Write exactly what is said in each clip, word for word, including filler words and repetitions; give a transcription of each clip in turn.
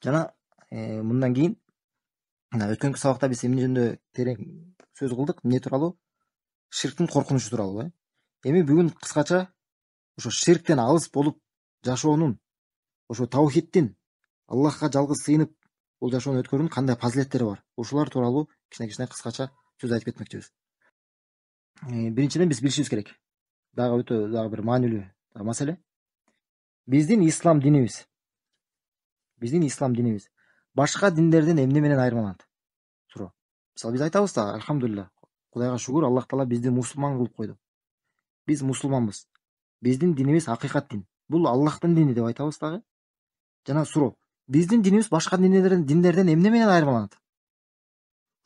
Жана мындан кийин өткөнкү сабакта биз эмне жөнүндө терең сөз кылдык? Эмне тууралуу? Ширктин коркунучу тууралуу э. Эми бүгүн кыскача ошо ширктен алыс болуп жашоонун, ошо таухиддин, Аллахка жалгыз сыйынып бул жашоону өткөрүүнүн кандай фазилеттери бар? Ушулар тууралуу кичине-кичине кыскача сөз айтып кетмекчибиз. Биринчиден биз билишибиз керек. Дагы өтө дагы бир маанилүү маселе. Биздин ислам динибиз, биздин ислам динибиз башка диндерден эмне менен айырмаланат? Суроо. Мисалы биз айтабыз да, альхамдулилля, Кудайга шүгүр, Аллах Таала бизди мусулман кылып койду. Биз мусулманбыз. Биздин динибиз акыйкат дин. Бул Аллахтын дини деп айтабыз дагы. Жана суроо, биздин динибиз башка диндерден диндерден эмне менен айырмаланат?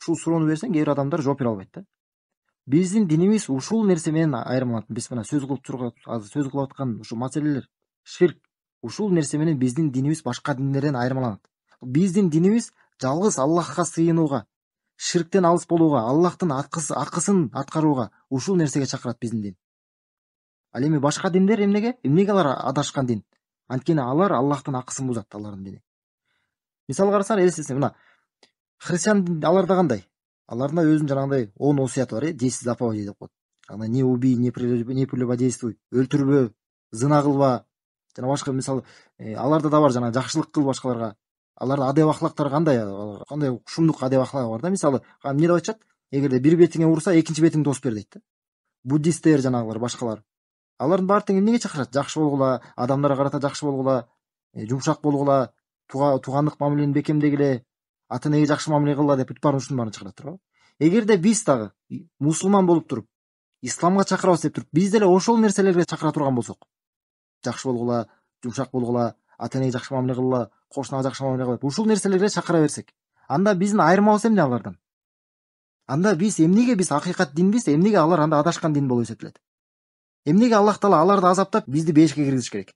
Ушул суроону берсең, кээ бир адамдар жооп бере албайт да. Биздин динибиз ушул нерсе менен айырмаланат. Биз мына сөз кылып турган, азыр сөз кылып аткан ушул маселелер, ширк, ушул нерсе менен биздин динибиз башка диндерден айырмаланат. Биздин динибиз жалгыз Аллахка сыйынууга, ширктен алыс болууга, Аллахтын акысын аткарууга, ушул нерсеге чакырат биздин дин. Ал эми башка диндер эмнеге? Эмнеге алар адашкан дин? Анткени алар Аллахтын акысын бузат, алардын дини. Мисал карасаң, элестетсең, мына христиан аларда кандай? Аларда өзүнүн жанагындай он осуяты бар, э, десять заповедей деп коет. Ана не убий, не прелюбодействуй, өлтүрбө, зына кылба, жана башка мисалы, аларда да бар жана жакшылык кыл башкаларга. Алардын адеп ахлактары кандай? Кандай шумдук адеп ахлагы бар да, мисалы, эмне деп айтышат? Эгерде бир бетиңе урса, экинчи бетиңди тосуп бер дейт да. Буддисттер жанагылар, башкалар. Алардын баары тең эмнеге чакырат? Жакшы болгула, адамдарга карата жакшы болгула, жумшак болгула, туугандык мамилени бекемдегиле, ата энеге жакшы мамиле кылгыла деп бүт баарын ушунун баарын чакырат туурабы? Эгерде биз дагы мусулман болуп туруп, исламга чакырабыз деп туруп, биз деле ошол нерселерге чакыра турган болсок, жакшы болгула, жумшак болгула, ата энеге жакшы мамиле кылгыла, кошунага жакшы мамиле кылып, ушул нерселерге чакыра берсек, анда биздин айырмабыз эмне алардан? Анда биз эмнеге биз акыйкат динбиз, эмнеге алар анда адашкан дин болуп эсептелет? Эмнеге Аллах Таала аларды азаптап, бизди бешикке киргизиш керек?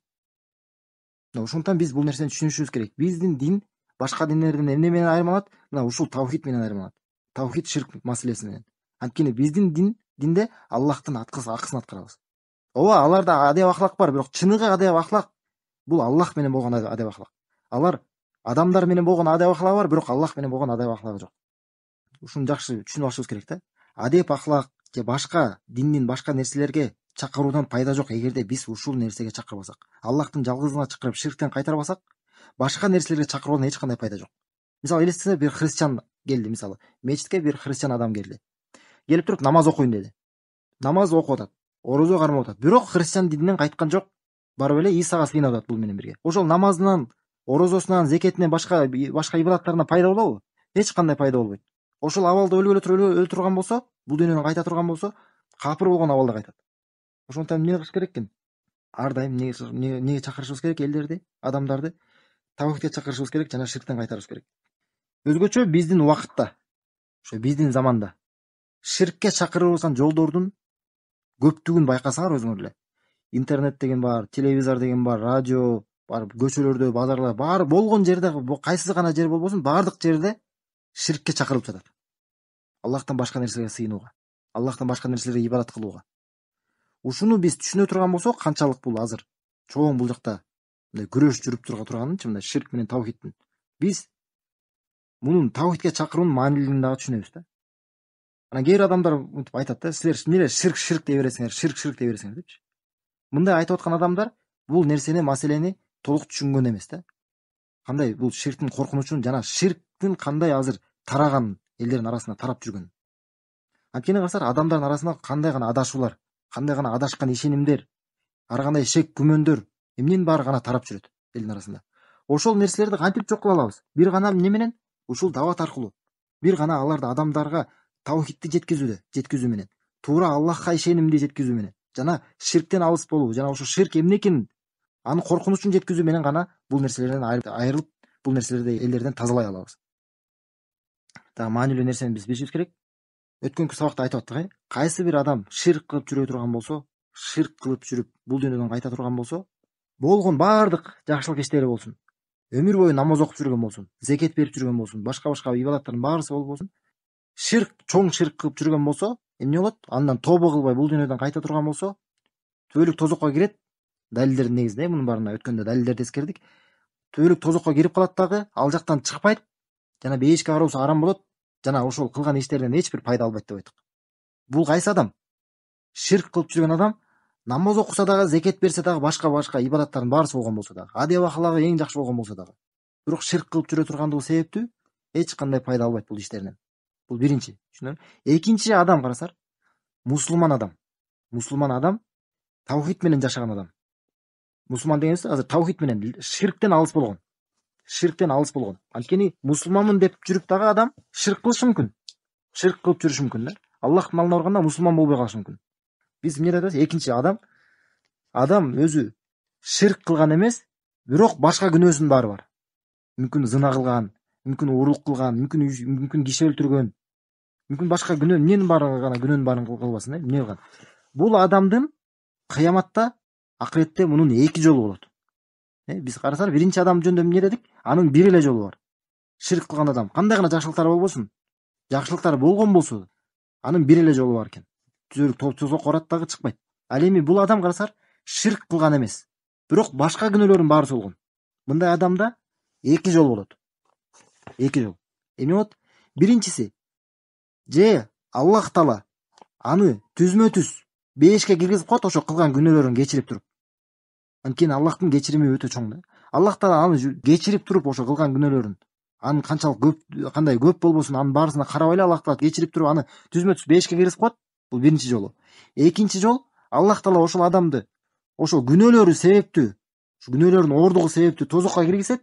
Ошондуктан биз бул нерсени түшүнүшүбүз керек. Биздин дин башка диндерден эмне менен айырмаланат? Мына ушул таухид менен айырмаланат. Таухид ширк маселеси менен. Анткени биздин дин динде Аллахтын акысын аткарабыз. Ооба, аларда адеп ахлак бар, бирок чыныгы адеп ахлак бул Аллах менен болгон адеп ахлак. Алар адамдар менен болгон адеп ахлагы бар, бирок Аллах менен болгон адеп ахлагы жок. Ушуну жакшы түшүнүп алышыбыз керек да. Адеп ахлак же башка диндин башка нерселерге чакыруудан пайда жок эгерде биз ушул нерсеге чакырбасак. Аллахтын жалгызына чакырып ширктен кайтарбасак, башка нерселерге чакыруудан эч кандай пайда жок. Мисалы элестесе, бир христиан келди, мисалы, мечитке бир христиан адам келди. Келип туруп намаз окуйм деди. Намаз окуп атат, орозо кармап атат. Бирок христиан дининен кайткан жок. Барып эле Исага сыйынып атат бул менен бирге. Ошол намазынан, орозосунан, зекетинен башка башка ибадаттарынан пайда болобу? Эч кандай пайда болбойт. Ошол абалда өлгөлө өлө турган болсо, бул дүйнөдөн кайта турган болсо, капыр болгон абалда кайтат. Ошондуктан эмне кылыш керек экен? Ар дайым эмнеге чакырышыбыз керек? Элдерди, адамдарды таухидке чакырышыбыз керек жана ширктен кайтарышыбыз керек. Өзгөчө биздин убакытта, ошо биздин заманда ширкке чакырып жолдордун көптүгүн байкасаңар өзүңөр эле. Интернет деген бар, телевизор деген бар, радио бар, көчөлөрдө, базарлар бар, болгон жерде, кайсы гана жер болбосун, баардык жерде ширкке чакырылып жатат. Аллахтан башка нерселерге сыйынууга, Аллахтан башка нерселерге ибадат кылууга. Ушуну биз түшүнө турган болсок, канчалык бул азыр чоң бул жакта мындай күрөш жүрүп турганынчы, мындай ширк менен таухидтин. Биз мунун таухидке чакыруунун маанилүүлүгүн дагы түшүнөбүз да. Анан кээ бир адамдар мынтип айтат да, силер эмне ширк ширк дей бересиңер, ширк ширк дей бересиңер депчи. Мындай айтып аткан адамдар бул нерсени, маселени толук түшүнгөн эмес да. Кандай бул ширктин коркунучун жана ширктин кандай азыр тараган элдердин арасында тарап жүргөн. Анткени карасаңар, адамдардын арасында кандай гана адашуулар, кандай гана адашкан ишенимдер, ар кандай шек күмөндөр, эмненин баары гана тарап жүрөт элдин арасында. Ошол нерселерди кантип жок кыла алабыз? Бир гана эмне менен? Ушул дават аркылуу. Бир гана аларды адамдарга таухидти жеткизүүдө, жеткизүү менен, туура Аллахка ишенимди жеткизүү менен, жана ширктен алыс болуу, жана ошо ширк эмне экенин, анын коркунучун жеткизүү менен гана бул нерселерден айрылып, бул нерселерди элдерден тазалай алабыз. Дагы маанилүү нерсени биз билишибиз керек. Өткөнкү сабакта айтып аттык, э, кайсы бир адам ширк кылып жүрө турган болсо, ширк кылып жүрүп бул дүйнөдөн кайта турган болсо, болгон баардык жакшылык иштери болсун, өмүр бою намаз окуп жүргөн болсун, зекет берип жүргөн болсун, башка-башка ибадаттардын баарысы болбосун, ширк, чоң ширк кылып жүргөн болсо, эмне болот? Андан тобо кылбай бул дүйнөдөн кайта турган болсо, түбөлүк тозокко кирет. Далилдердин негизинде мунун баарына өткөндө далилдерди эскердик. түбөлүк тозокко кирип калат дагы, ал жактан чыкпайт, жана бейишке кароосу арам болот, жана ошол кылган иштеринен эч бир пайда албайт деп айттык. Бул кайсы адам? Ширк кылып жүргөн адам, намаз окуса дагы, зекет берсе дагы, башка башка ибадаттардын баарысы болгон болсо дагы, адеп акылагы эң жакшы болгон болсо дагы, бирок ширк кылып жүрө тургандыгы себептүү эч кандай пайда албайт бул иштеринен. Бул биринчи, түшүнөбү? Экинчи адам карасар, мусулман адам. Мусулман адам таухид менен жашаган адам. Мусулман дегенибиз азыр таухид менен, ширктен алыс болгон. Ширктен алыс болгон. Анткени мусулманмын деп жүрүп дагы адам ширк кылышы мүмкүн. Ширк кылып жүрүшү мүмкүн да. Аллахтын алдына барганда мусулман болбой калышы мүмкүн. Биз эмне айтабыз? Экинчи адам адам өзү ширк кылган эмес, бирок башка күнөөсүнүн баары бар. Мүмкүн зына кылган, мүмкүн урук кылган, мүмкүн мүмкүн киши өлтүргөн, мүмкүн башка күнөө, эмненин баарын гана күнөөнүн баарын кылбасын, э, эмне кылган. Бул адамдын кыяматта, акыретте мунун эки жолу болот. Э, биз карасак, биринчи адам жөнүндө эмне дедик? Анын бир эле жолу бар. Ширк кылган адам кандай гана жакшылыктары болбосун, жакшылыктары болгон болсо, анын бир эле жолу бар экен. Түзөлүк тозок орат дагы чыкпайт. Ал эми бул адам карасар, ширк кылган эмес, бирок башка күнөөлөрдүн баары болгон. Мындай адамда эки жол болот. Эки жол. Эмне болот? Биринчиси, же Аллах Таала аны түзмө түз бейишке киргизип коет, ошо кылган күнөөлөрүн кечирип туруп. Анткени Аллахтын кечирими өтө чоң да. Аллах Таала аны кечирип туруп, ошо кылган күнөөлөрүн, анын канчалык көп, кандай көп болбосун, анын баарысына карабай эле Аллах Таала кечирип туруп, аны түзмө түз бейишке киргизип коет. Бул биринчи жолу. Экинчи жол, Аллах Таала ошол адамды ошол күнөөлөрү себептүү, ошо күнөөлөрдүн оордугу себептүү тозокко киргизет,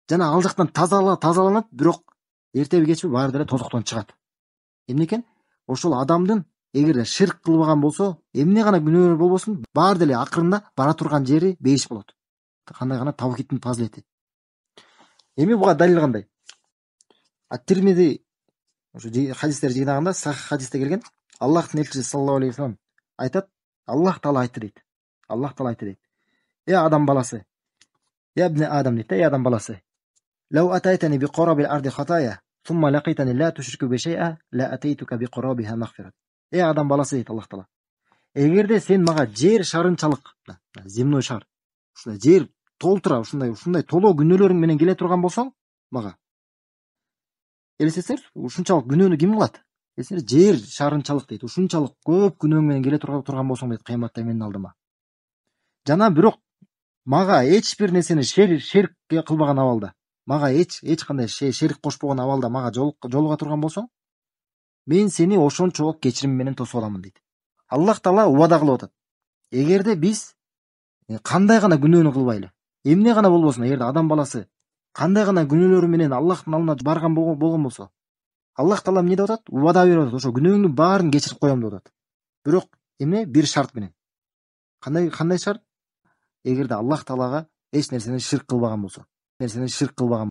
жана ал жактан тазаланат, бирок эртеби кечпи баары деле тозоктон чыгат. Эмне экен? Ошол адамдын эгерде ширк кылбаган болсо, эмне гана күнөөлөр болбосун, баары деле акырында бара турган жери бейиш болот. Кандай гана тавхидтин фазилети. Эми буга далил кандай? Ат-Тирмизи ошо хадистер жыйнагында, сахих хадисте келген, Аллахтын элчиси саллаллаху алейхи ва саллям айтат, Аллах Таала айтты дейт. Аллах Таала айтты дейт. Э адам баласы, я ибн Адам дейт, э адам баласы. Лау атайтани би qarabil ardi khataya, thumma laqitani la tushriku bi shay'a, la ataytuka bi qarabiha maghfirat. Э адам баласы дейт Аллах Таала. Эгерде сен мага жер шарынчалык, земной шар, ушундай жер толтура, ушундай ушундай толоо күнөөлөрүң менен келе турган болсоң, мага элестетсеңиз, ушунчалык күнөөнү ким кылат? Эсер жер шарынчалык дейт, ушунчалык көп күнөөң менен келе турган болсоң дейт, кыяматта менин алдыма. Жана бирок мага эч бир нерсени шерк кылбаган абалда, мага эч эч кандай шерик кошпогон абалда мага жолуга турган болсоң, мен сени ошончолук кечирим менен тосуп аламын дейт. Аллах Таала убада кылып атат. Эгерде биз кандай гана күнөөнү кылбайлы, эмне гана болбосун, эгерде адам баласы кандай гана күнөөлөрү менен Аллахтын алдына барган болгон болсо, Аллах Таала эмне деп атат? Убада берип атат, ошо күнөөңдүн баарын кечирип коем деп атат. Бирок эмне? Бир шарт менен. Кандай кандай шарт? Эгерде Аллах Таалага эч нерсени ширк кылбаган болсо, нерсени ширк кылбаган